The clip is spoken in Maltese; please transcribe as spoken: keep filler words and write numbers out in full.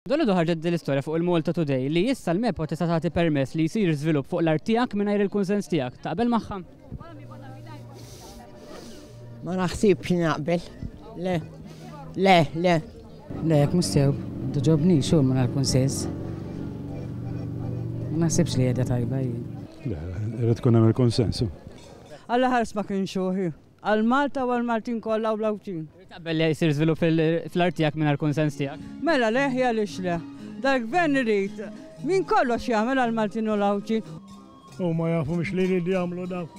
Dalgħodu ħarġet din l-istorja fuq il-Malta Today li issa l-MEPA tista' tagħti permess li jsir żvilupp fuq l-art tiegħek mingħajr il-kunsens tiegħek. Taqbel magħha? Ma naħsibx naqbel. Le. Le, le. Le, jekk mhux sew, togħġobni xu minn għal-kunsens. Ma naħsibx li qiegħda tajba jien. Le, irid tkun hemm il-konsensu. Alla ħares ma kienx uħi. Għal Malta u għal Maltin kollha u l-Għawdxin. Taqbel li jsir żvilupp fl-art tiegħek mingħajr kunsens tiegħek? Mela le, għaliex le. Dal-gvern irid min kollox jagħmel għal Maltin u l-Għawdxin. U ma jafu mhux li jridu jagħmlu daw.